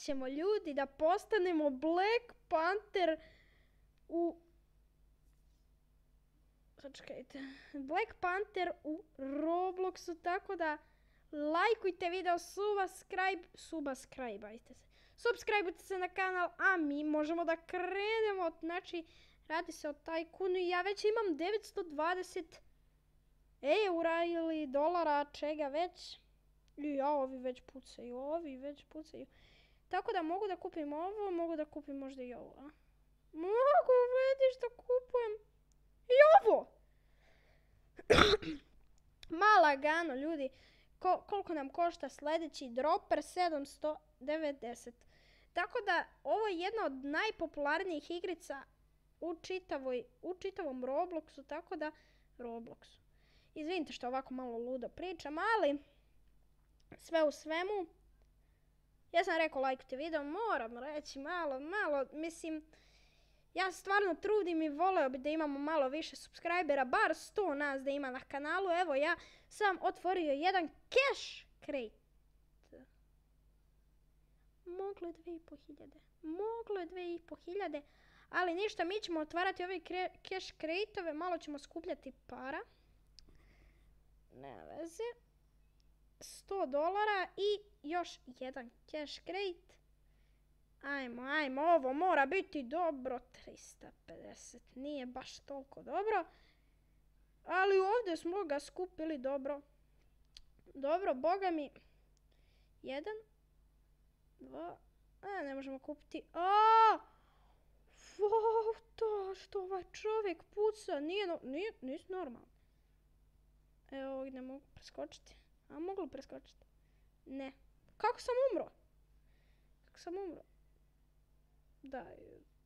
ćemo ljudi da postanemo Black Panther u... Sačekajte. Black Panther u Robloxu, tako da lajkujte video, subscribeujte se na kanal, a mi možemo da krenemo. Znači, radi se o Tajkunu i ja već imam 920 eura ili dolara, čega već. I ovi već pucaju. Tako da mogu da kupim ovo, mogu da kupim možda i ovo. Mogu, vidiš da kupujem i ovo. Lagano, ljudi. Koliko nam košta sljedeći dropper? 790. Tako da ovo je jedna od najpopularnijih igrica u čitavom Robloxu, tako da Robloxu. Izvinite što ovako malo ludo pričam, ali sve u svemu, ja sam rekao lajkujte video, moram reći malo, mislim, ja stvarno trudim i voleo bi da imamo malo više subscribera, bar 100 nas da ima na kanalu. Evo, ja sam otvorio jedan cash crate. Moglo je 2500, ali ništa, mi ćemo otvarati ove cash crate-ove, malo ćemo skupljati para. Nema veze. $100 i još jedan cash crate. Ajmo, ovo mora biti dobro. 350, nije baš toliko dobro. Ali ovdje smo ga skupili dobro. Dobro, boga mi. 1, 2, ne možemo kupiti. To što ovaj čovjek puca, nije normalno. Evo, ovdje ne mogu preskočiti. A mogu preskočiti? Ne. Kako sam umro? Da,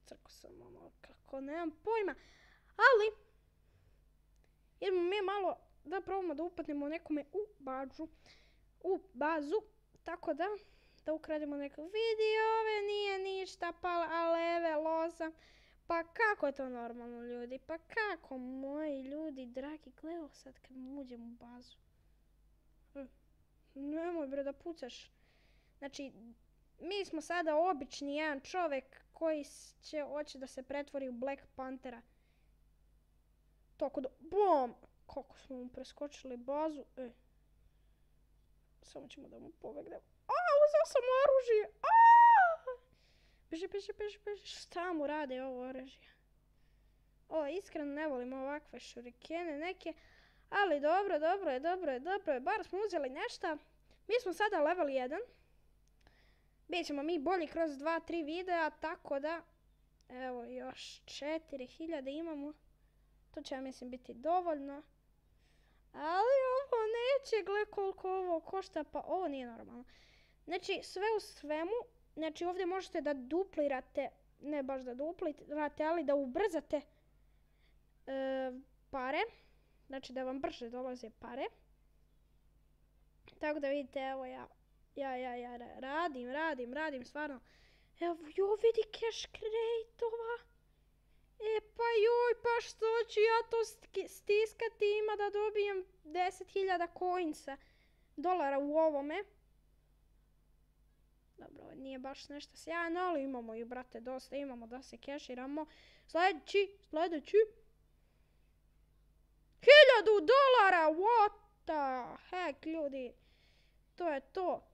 crko sam ono, kako, nemam pojma. Ali, idemo mi malo da probamo da upatnemo nekome u bazu. Tako da ukrademo neke videove, nije ništa, pa leve, loza. Pa kako je to normalno, ljudi? Pa kako, moji ljudi, dragi, gledao sad kad uđem u bazu. Nemoj bre da pucaš. Znači, mi smo sada obični jedan čovjek koji hoće da se pretvori u Black Panthera. Tako da, bom! Kako smo mu preskočili bazu. Samo ćemo da mu pobegnemo. Uzeo sam oružje! Beži. Šta mu rade ovo oružje? Iskreno ne volim ovakve šurikene neke. Ali dobro je. Bar smo uzeli nešto. Mi smo sada level 1. Bićemo mi bolji kroz 2-3 videa, tako da, evo, još 4000 imamo. To će, ja mislim, biti dovoljno. Ali ovo neće, gle koliko ovo košta, pa ovo nije normalno. Znači, sve u svemu, znači ovdje možete da duplirate, ne baš da duplirate, ali da ubrzate pare. Znači da vam brže dolaze pare. Tako da vidite, evo ja radim, stvarno. Evo, vidi cash crate-ova. Pa što ću ja to stiskati, ima da dobijem 10.000 dolara u ovome. Dobro, nije baš nešto sjajno, ali imamo i, brate, dosta, imamo da se keširamo. Sljedeći. $1,000, what the heck, ljudi. To je to.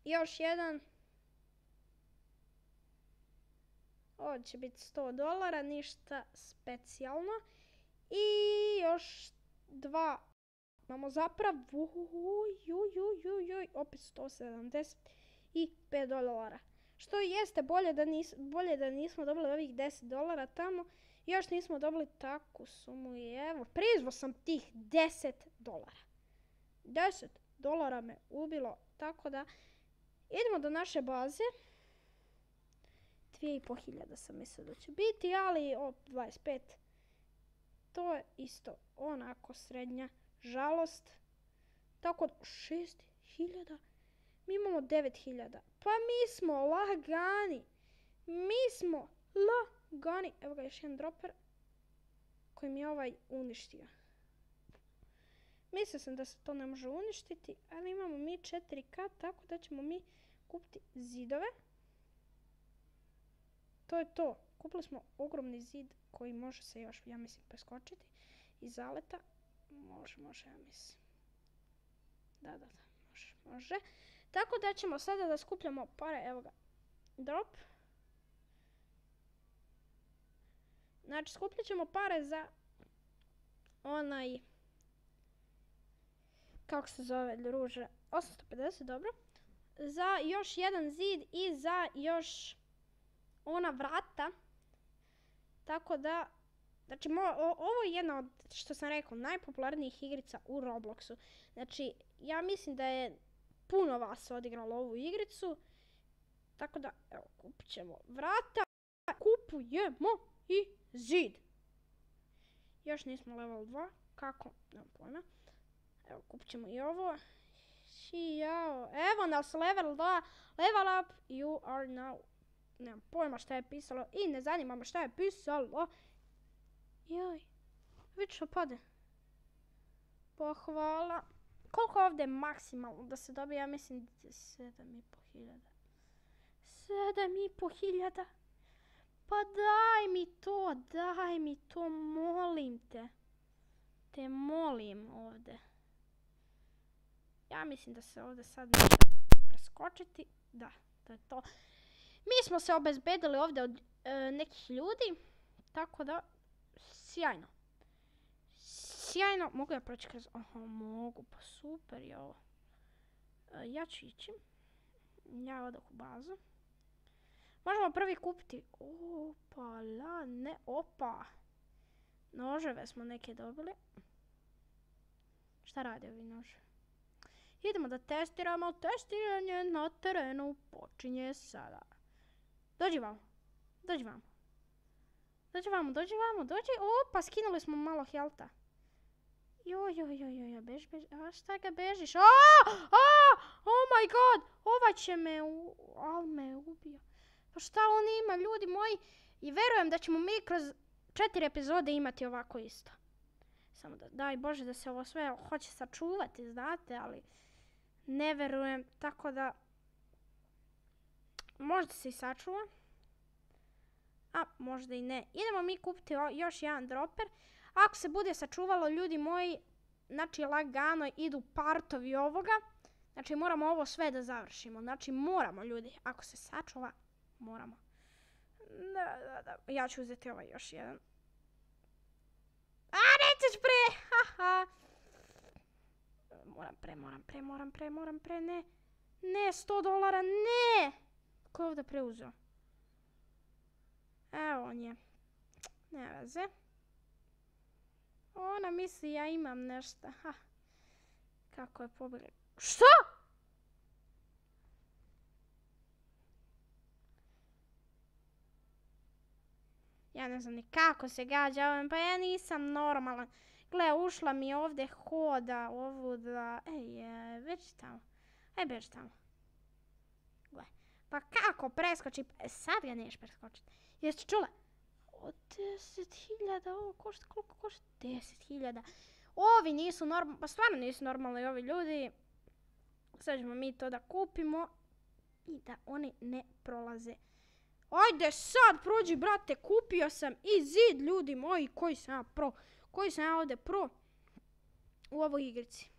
Još jedan. Ovo će biti $100, ništa specijalno. I još 2. Imamo zapravo, opet $175. Što jeste bolje da nismo dobili ovih $10 tamo. Još nismo dobili takvu sumu i evo, prizvao sam tih $10. $10 me ubilo, tako da idemo do naše baze. 2500 sam mislila da će biti, ali 25. To je isto onako srednja žalost. Tako da 6000. Mi imamo 9000. Pa mi smo lagani. Evo ga još jedan dropper koji mi je ovaj uništio. Mislio sam da se to ne može uništiti, ali imamo mi 4K, tako da ćemo mi kupiti zidove. To je to. Kupili smo ogromni zid koji može se još, ja mislim, preskočiti iz zaleta. Može, ja mislim. Da, može. Tako da ćemo sada da skupljamo pare, evo ga, drop. Znači, skupljat ćemo pare za onaj, kako se zove, ruže, 850, dobro. Za još jedan zid i za još ona vrata. Tako da, znači, ovo je jedna od, što sam rekao, najpopularnijih igrica u Robloxu. Znači, ja mislim da je puno vas odigralo ovu igricu. Tako da, evo, kupit ćemo vrata. Kupujemo i zid. Još nismo level 2. Kako? Nemam pojma. Evo, kupit ćemo i ovo. Evo nas level 2. Level up. You are now. Nemam pojma šta je pisalo. I ne zanima me šta je pisalo. Joj. Vidi što pade. Pohvala. Koliko je ovdje maksimalno da se dobije? Ja mislim 7.500. 7.500. Pa daj mi to, molim te. Te molim ovdje. Ja mislim da se ovdje sad neće preskočiti. Da, to je to. Mi smo se obezbedili ovdje od nekih ljudi. Tako da, sjajno. Sjajno. Mogu ja proći kroz... Aha, mogu, pa super je ovo. Ja ću ići. Ja odah u bazu. Možemo prvi kupiti. Opa. Noževe smo neke dobili. Šta radi ovi nože? Idemo da testiramo. Testiranje na terenu počinje sada. Dođi vam. Opa, skinuli smo malo helta. Joj, beži. A šta ga bežiš? Oh my god. Ovaj će me ubio. Pa šta on ima, ljudi moji? I verujem da ćemo mi kroz 4 epizode imati ovako isto. Samo da, daj Bože da se ovo sve hoće sačuvati, znate, ali ne verujem, tako da možda se i sačuva. A, možda i ne. Idemo mi kupiti još jedan dropper. Ako se bude sačuvalo, ljudi moji, znači lagano idu partovi ovoga. Znači moramo ovo sve da završimo. Znači moramo, ljudi, ako se sačuva, moramo. Da. Ja ću uzeti ovaj još jedan. A, nećeš pre! Haha. Moram pre, ne. Ne, $100, ne! Ko je ovdje preuzeo? Evo on je. Ne veze. Ona misli ja imam nešto. Ha. Kako je pobjegla. Što? Ja ne znam ni kako se gađa ovim, pa ja nisam normalan. Gle, ušla mi ovdje hoda ovuda. Beži tamo. Beži tamo. Gle, pa kako preskoči? Sad ga neš preskočiti. Jeste čula? Od 10.000, ovo košta, koliko košta? 10.000. Ovi nisu normalni, pa stvarno nisu normalni ovi ljudi. Sad ćemo mi to da kupimo i da oni ne prolaze. Ajde sad prođi, brate, kupio sam i zid, ljudi moji, koji sam ja pro. Koji sam ja ovdje pro u ovoj igrici.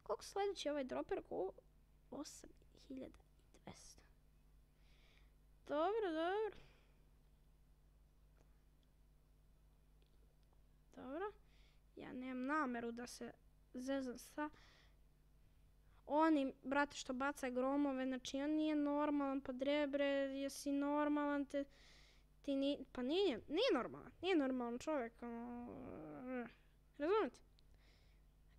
Koliko sljedeći ovaj dropper? 8.200. Dobro. Ja nemam nameru da se zezam sa onim, brate, što baca gromove. Znači, on nije normalan, pa drebre, jesi normalan, pa nije normalan čovjek. Razumite?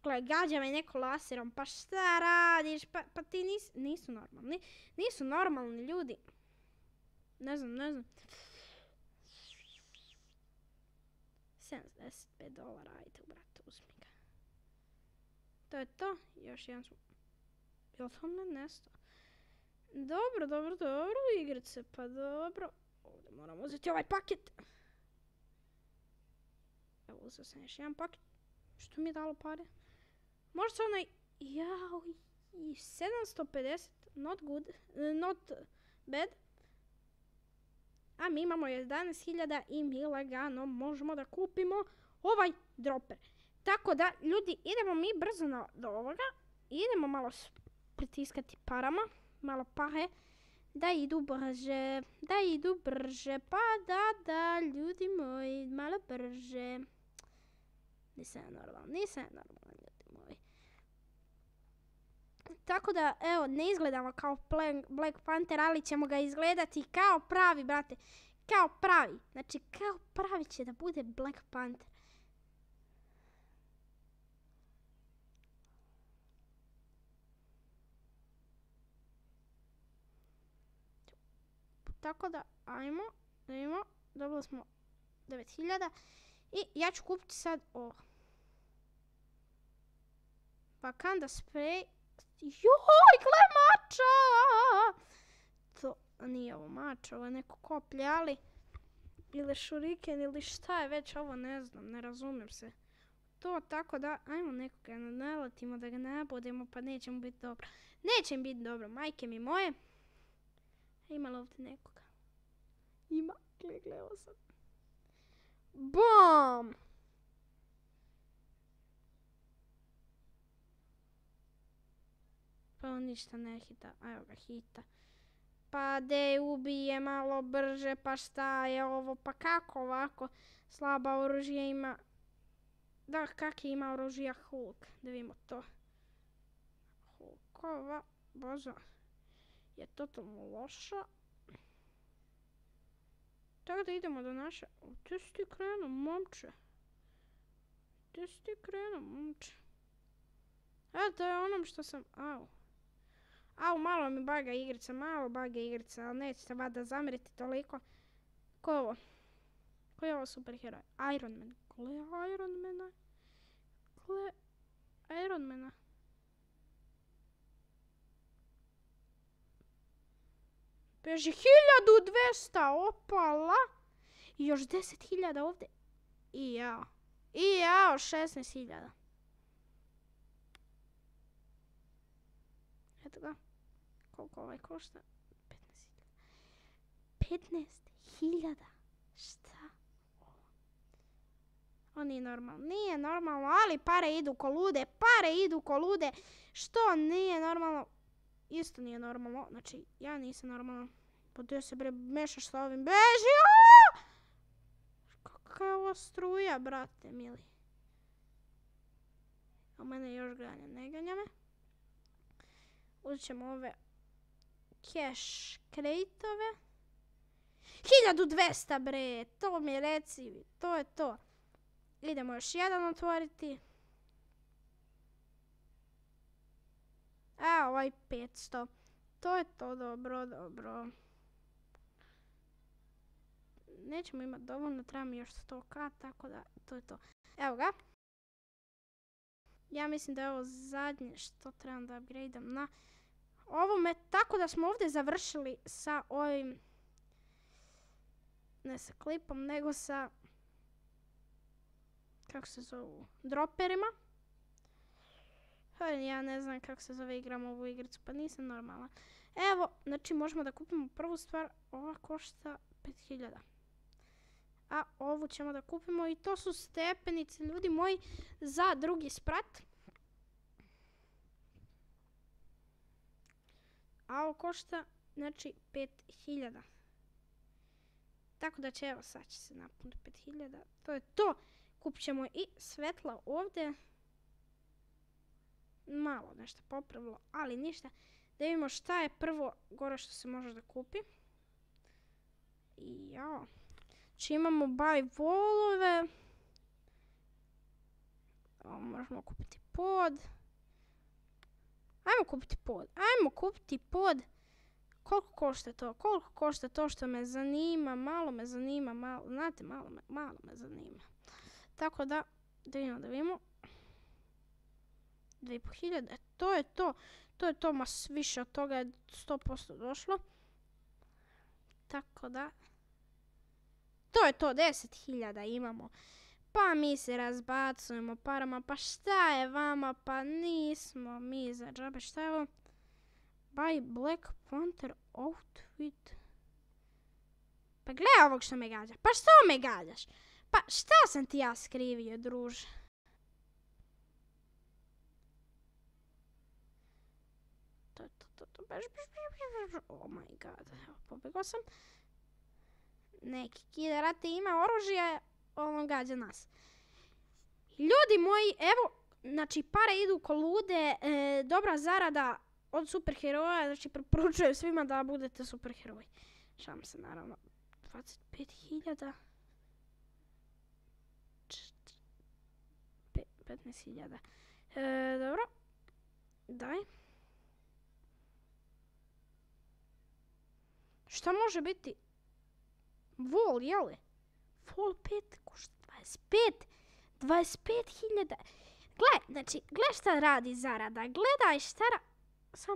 Gle, gađa me neko laserom, pa šta radiš, pa ti nisu normalni. Nisu normalni ljudi. Ne znam. $75, ajde, brate, uzmi ga. To je to, još jedan smo. Jel to ne nesto? Dobro, igrice, pa dobro. Ovdje moram uzeti ovaj paket. Evo, uzeo sam još jedan paket. Što mi je dalo pare? Možda se onaj... 750. not good, not bad. A mi imamo 11.000 i mi lagano možemo da kupimo ovaj dropper. Tako da, ljudi, idemo mi brzo do ovoga. Idemo malo pritiskati parama, malo pare, da idu brže, pa da, ljudi moji, malo brže. Nisam ja normalan, ljudi moji. Tako da, evo, ne izgledamo kao Black Panther, ali ćemo ga izgledati kao pravi, brate. Kao pravi. Znači, kao pravi će da bude Black Panther. Tako da, ajmo, da vidimo, dobili smo 9.000 i ja ću kupiti sad ovo. Wakanda spray. Joj, gle mača! To nije ovo mača, ovo je neko koplje, ali ili šuriken ili šta je već ovo, ne znam, ne razumijem se. To tako da, ajmo nekoga naletimo da ga nabodemo, pa neće mu biti dobro. Neće mi biti dobro, majke mi moje. Ima li ovdje nekoga? Ima, gle, ovo sad. BOOM! Pa on ništa ne hita, evo ga hita. Pa de ubije malo brže, pa šta je ovo, pa kako ovako slaba oružje ima. Da, kak ima oružja Hulk, da vidimo to. Hulkova baza je totalno loša. Tako da idemo do naše... Gdje si ti krenuo, momče? To je onom što sam... Au, malo mi baga igrica, ali nećete vada zamjeriti toliko. Ko je ovo? Ko je ovo superheroj? Iron Man. Gle Iron Mana. Beži 1200, opala. I još 10.000 ovdje. I jao, 16.000. Eto ga. Koliko ovaj košta? 15.000. Šta? On nije normalno, ali pare idu ko lude. Što nije normalno? Isto nije normalno, znači ja nisam normalno. Pa gdje se bre mešaš sa ovim? Beži! Kakva je ovo struja, brate mili. A mene još ganja, ne ganja me. Uzet ćemo ove cash crate-ove. 1200 bre, to mi reci, to je to. Idemo još jedan otvoriti. A ovaj 500. To je to, dobro. Nećemo imati dovoljno, treba mi još 100k, tako da to je to. Evo ga. Ja mislim da je ovo zadnje što trebam da upgradeam na ovome. Tako da smo ovdje završili sa ovim, ne sa klipom, nego sa, kako se zovu, dropperima. Ja ne znam kako se zove, igram ovu igricu, pa nisam normalna. Evo, znači možemo da kupimo prvu stvar, ova košta 5.000. A ovu ćemo da kupimo i to su stepenice, ljudi moji, za drugi sprat. A ovo košta, znači, 5.000. Tako da će, evo, sad će se napuniti 5.000. To je to. Kupit ćemo i svetla ovdje. Malo nešto popravilo, ali ništa. Da vidimo šta je prvo gore što se može da kupi. I jao. Znači imamo buy wallove. Možemo kupiti pod. Ajmo kupiti pod. Koliko košta to? Koliko košta to što me zanima? Malo me zanima, znate, malo me zanima. Tako da vidimo. 2.500, to je to, ma više od toga je 100% došlo. Tako da, to je to, 10.000 imamo. Pa mi se razbacujemo parama, pa šta je vama, pa nismo mi za džabe, šta je ovo? Buy Black Panther outfit. Pa gledaj ovog što me gađa. Pa što me gađaš? Pa šta sam ti ja skrivio, druže? Oh my god, evo, pobegao sam. Neki kiderate ima oružje, on gađa nas. Ljudi moji, evo, znači pare idu ko lude, dobra zarada od superheroja, znači preporučujem svima da budete superheroji. Šalim se naravno, 25.000. 15.000. Dobro, daj. Šta može biti? Vol, jeli? Vol 5 košta 25.000. Gle šta radi zarada. Gledaj šta Sam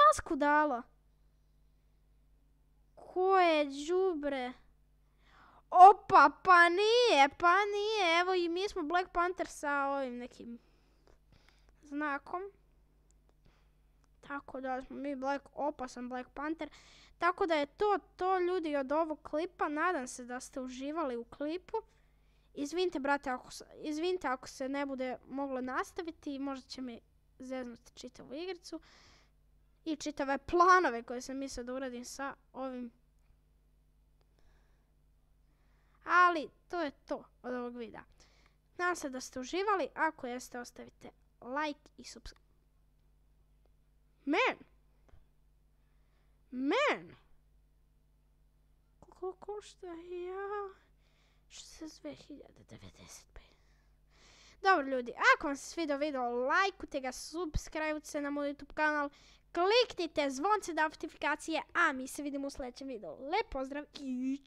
masku dala. Ko je đubre? Opa, pa nije. Evo i mi smo Black Panther sa ovim nekim znakom. Tako da smo mi opasan Black Panther. Tako da je to ljudi od ovog klipa. Nadam se da ste uživali u klipu. Izvinite brate ako se ne bude moglo nastaviti. Možda će mi zeznuti čitavu igricu. I čitave planove koje sam mislila da uradim sa ovim. Ali to je to od ovog videa. Nadam se da ste uživali. Ako jeste, ostavite like i subscribe. Man! Koliko košta? Ja... 62.095. Dobro ljudi, ako vam se svidio video, lajkujte ga, subscribe se na moj YouTube kanal, kliknite zvonce da notifikacije, a mi se vidimo u sljedećem videu. Lijep pozdrav i